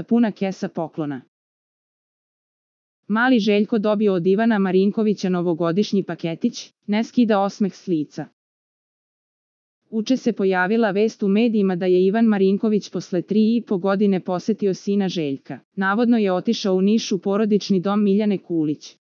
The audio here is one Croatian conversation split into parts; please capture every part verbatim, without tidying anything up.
puna kesa poklona. Mali Željko dobio od Ivana Marinkovića novogodišnji paketić, ne skida osmeh s lica. Uče se pojavila vest u medijima da je Ivan Marinković posle tri i po godine posetio sina Željka. Navodno je otišao u Niš u porodični dom Miljane Kulić.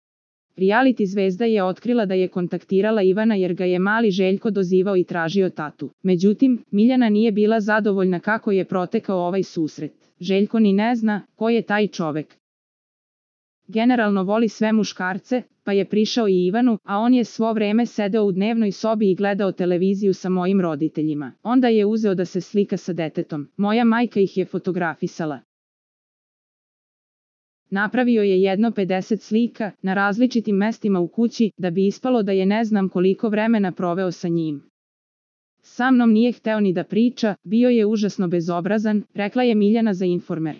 Reality zvezda je otkrila da je kontaktirala Ivana jer ga je mali Željko dozivao i tražio tatu. Međutim, Miljana nije bila zadovoljna kako je protekao ovaj susret. Željko ni ne zna ko je taj čovek. Generalno voli sve muškarce, pa je prišao i Ivanu, a on je svo vreme sedeo u dnevnoj sobi i gledao televiziju sa mojim roditeljima. Onda je uzeo da se slika sa detetom. Moja majka ih je fotografisala. Napravio je jedno pedeset slika, na različitim mestima u kući, da bi ispalo da je ne znam koliko vremena proveo sa njim. Sa mnom nije hteo ni da priča, bio je užasno bezobrazan, rekla je Miljana za Informer.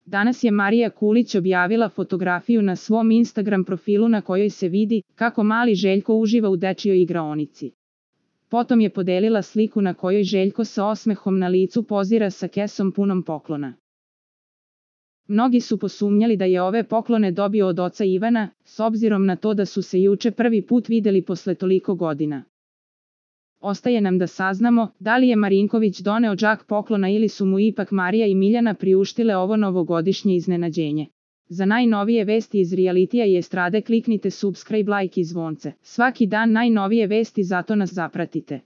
Danas je Marija Kulić objavila fotografiju na svom Instagram profilu na kojoj se vidi kako mali Željko uživa u dečijoj igraonici. Potom je podelila sliku na kojoj Željko sa osmehom na licu pozira sa kesom punom poklona. Mnogi su posumnjali da je ove poklone dobio od oca Ivana, s obzirom na to da su se juče prvi put videli posle toliko godina. Ostaje nam da saznamo da li je Marinković doneo džak poklona ili su mu ipak Marija i Miljana priuštile ovo novogodišnje iznenađenje. Za najnovije vesti iz realitija i estrade kliknite subscribe, like i zvonce. Svaki dan najnovije vesti, zato nas zapratite.